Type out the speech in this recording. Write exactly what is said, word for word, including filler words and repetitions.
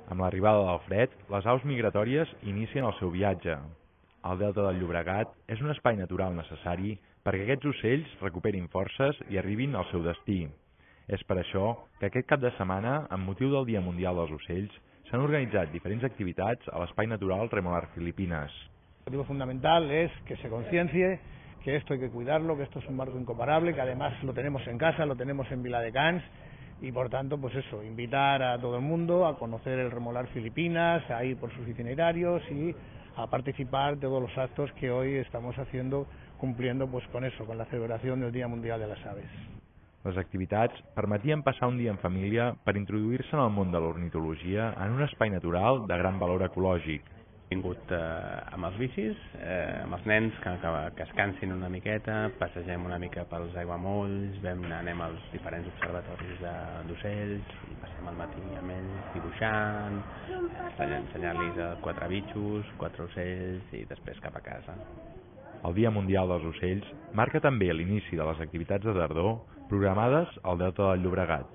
Amb l'arribada del fred, les aus migratòries inicien el seu viatge. El Delta del Llobregat és un espai natural necessari perquè aquests ocells recuperin forces i arribin al seu destí. És per això que aquest cap de setmana, amb motiu del Dia Mundial dels Ocells, s'han organitzat diferents activitats a l'Espai Natural Remolar Filipinas. El motivo fundamental es que se conciencie que esto hay que cuidarlo, que esto es un marco incomparable, que además lo tenemos en casa, lo tenemos en Viladecans y por tanto, pues eso, invitar a todo el mundo a conocer el Remolar Filipinas, a ir por sus itinerarios y a participar de todos los actos que hoy estamos haciendo, cumpliendo pues con eso, con la celebración del Día Mundial de las Aves. Les activitats permetien passar un dia en família per introduir-se en el món de l'ornitologia en un espai natural de gran valor ecològic. He vingut eh, amb els bicis, eh, amb els nens, que, que, que es cansin una miqueta, passegem una mica pels aiguamolls, vam, anem als diferents observatoris d'ocells, i passem el matí amb ells dibuixant, ensenyar-los quatre bitxos, quatre ocells i després cap a casa. El Dia Mundial dels Ocells marca també l'inici de les activitats de tardor programades al Delta del Llobregat.